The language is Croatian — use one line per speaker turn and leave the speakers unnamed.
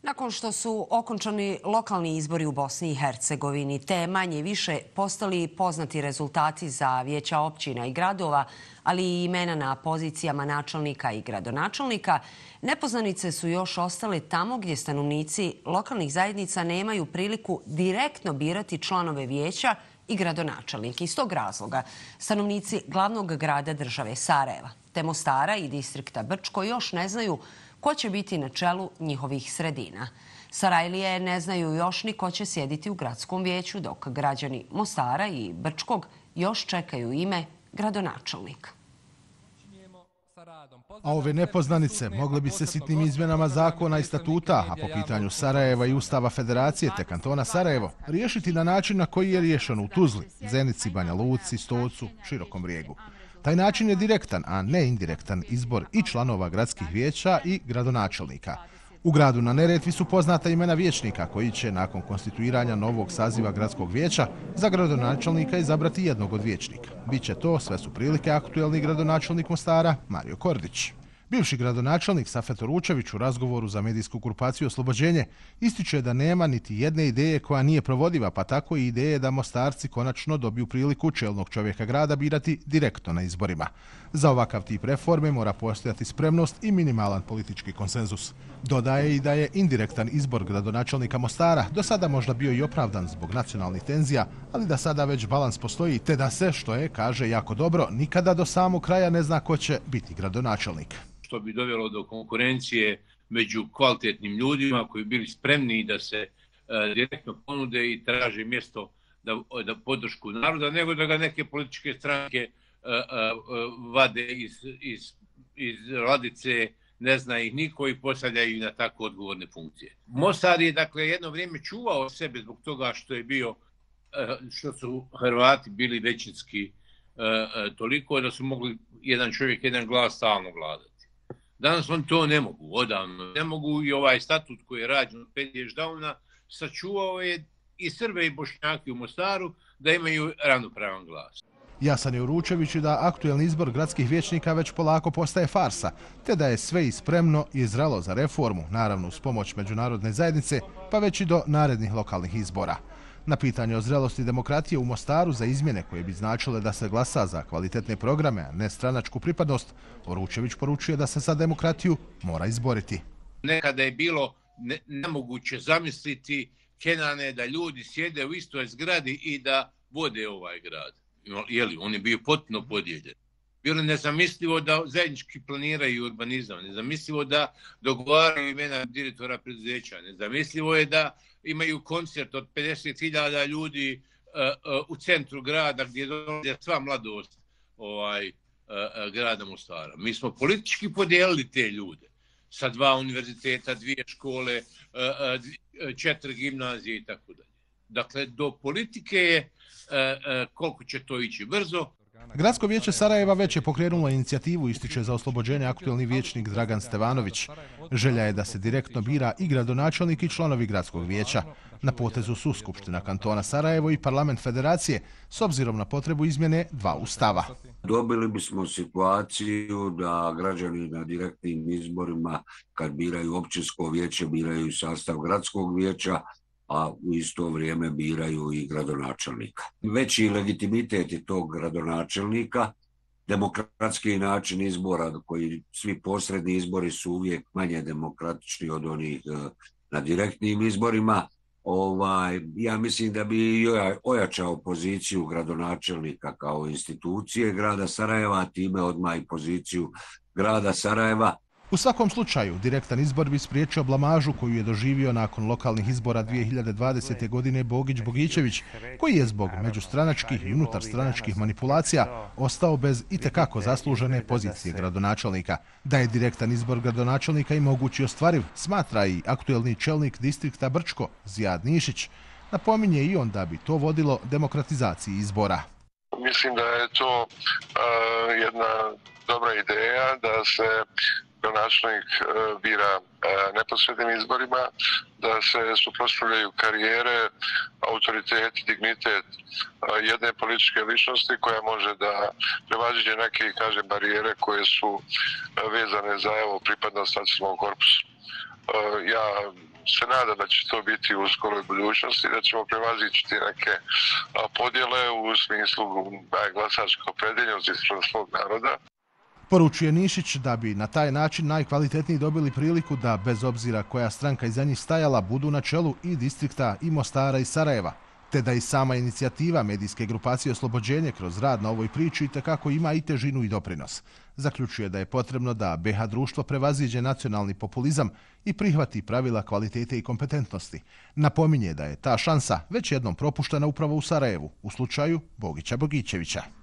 Nakon što su okončani lokalni izbori u Bosni i Hercegovini, te manje više postali poznati rezultati za vijeća općina i gradova, ali i imena na pozicijama načelnika i gradonačelnika, nepoznanice su još ostale tamo gdje stanovnici lokalnih zajednica nemaju priliku direktno birati članove vijeća i gradonačelnike. Iz tog razloga stanovnici glavnog grada države Sarajeva, te Mostara i distrikta Brčko još ne znaju ko će biti na čelu njihovih sredina. Sarajlije ne znaju još ni ko će sjediti u gradskom vijeću, dok građani Mostara i Brčkog još čekaju ime gradonačelnika.
A ove nepoznanice mogle bi se sitnim izmjenama zakona i statuta, a po pitanju Sarajeva i Ustava Federacije te kantona Sarajevo, riješiti na način na koji je riješeno u Tuzli, Zenici, Banja Luci, Stocu, Širokom Brijegu. Taj način je direktan, a ne indirektan izbor i članova gradskih vijeća i gradonačelnika. U gradu na Neretvi su poznata imena vijećnika koji će nakon konstituiranja novog saziva gradskog vijeća za gradonačelnika izabrati jednog od vijećnika. Biće to, sve su prilike, aktuelni gradonačelnik Mostara Mario Kordić. Bivši gradonačelnik Safet Oručević u razgovoru za medijsku grupaciju Oslobođenje ističe da nema niti jedne ideje koja nije provodiva, pa tako i ideje da Mostarci konačno dobiju priliku čelnog čovjeka grada birati direktno na izborima. Za ovakav tip reforme mora postojati spremnost i minimalan politički konsenzus. Dodaje i da je indirektan izbor gradonačelnika Mostara do sada možda bio i opravdan zbog nacionalnih tenzija, ali da sada već balans postoji te da se, što je, kaže jako dobro, nikada do samog kraja ne zna ko će biti gradonačelnik.
Što bi dovelo do konkurencije među kvalitetnim ljudima koji bili spremni da se direktno ponude i traže mjesto da podršku naroda, nego da ga neke političke stranke vade iz ladice, ne zna ih niko i postavljaju na tako odgovorne funkcije. Mostar je dakle jedno vrijeme čuvao sebe zbog toga što su Hrvati bili većinski toliko da su mogli jedan čovjek, jedan glas stalno vladati. Danas oni to ne mogu, odavno ne mogu i ovaj statut koji je rađen od Pedije Ždauna sačuvao je i Srbe i Bošnjake u Mostaru da imaju ravnopravan glas.
Jasan je Uručević da aktuelni izbor gradskih vijećnika već polako postaje farsa, te da je sve i spremno i zrelo za reformu, naravno uz pomoć međunarodne zajednice, pa već i do narednih lokalnih izbora. Na pitanje o zrelosti demokratije u Mostaru za izmjene koje bi značile da se glasa za kvalitetne programe, a ne stranačku pripadnost, Oručević poručuje da se za demokratiju mora izboriti.
Nekada je bilo nemoguće zamisliti, Kenane, da ljudi sjede u istoj zgradi i da vode ovaj grad. On je bio potpuno podijeljen. Bilo je nezamislivo da zajednički planiraju urbanizam, nezamislivo da dogovaraju imena direktora preduzeća, nezamislivo je da imaju koncert od 50.000 ljudi u centru grada gdje dolaze sva mladost grada Mostara. Mi smo politički podijelili te ljude sa 2 univerziteta, 2 škole, 4 gimnazije i tako dalje. Dakle, do politike je koliko će to ići brzo.
Gradsko vijeće Sarajeva već je pokrenulo inicijativu, ističe za oslobođenje aktuelni vijećnik Dragan Stevanović. Želja je da se direktno bira i gradonačelnik i članovi gradskog vijeća. Na potezu su Skupština kantona Sarajevo i Parlament Federacije, s obzirom na potrebu izmjene 2 ustava.
Dobili bismo situaciju da građani na direktnim izborima, kad biraju općinsko vijeće, biraju sastav gradskog vijeća, a u isto vrijeme biraju i gradonačelnika. Veći legitimitet je tog gradonačelnika, demokratski način izbora, koji svi posredni izbori su uvijek manje demokratični od onih na direktnim izborima. Ja mislim da bi ojačao poziciju gradonačelnika kao institucije grada Sarajeva, a time odmah i poziciju grada Sarajeva.
U svakom slučaju, direktan izbor bi spriječio blamažu koju je doživio nakon lokalnih izbora 2020. godine Bogić Bogićević, koji je zbog međustranačkih i unutarstranačkih manipulacija ostao bez itekako zaslužene pozicije gradonačelnika. Da je direktan izbor gradonačelnika i mogući ostvariv, smatra i aktuelni čelnik distrikta Brčko, Zijad Nišić. Napominje i on da bi to vodilo demokratizaciji izbora.
Mislim da je to jedna dobra ideja da se gradonačelnik bira neposrednim izborima, da se suprotstavljaju karijere, autoritet, dignitet jedne političke ličnosti koja može da prevaziđe neke, barijere koje su vezane za pripadnost nacionalnom korpusu. Ja se nadam da će to biti u skoroj budućnosti, da ćemo prevazići neke podjele u smislu glasačke opredeljenosti svog naroda.
Poručuje Nišić da bi na taj način najkvalitetniji dobili priliku da, bez obzira koja stranka iza njih stajala, budu na čelu i distrikta i Mostara i Sarajeva, te da i sama inicijativa medijske grupacije Oslobođenje kroz rad na ovoj priči itekako ima i težinu i doprinos. Zaključuje da je potrebno da BiH društvo prevaziđe nacionalni populizam i prihvati pravila kvalitete i kompetentnosti. Napominje da je ta šansa već jednom propuštena upravo u Sarajevu, u slučaju Bogića Bogićevića.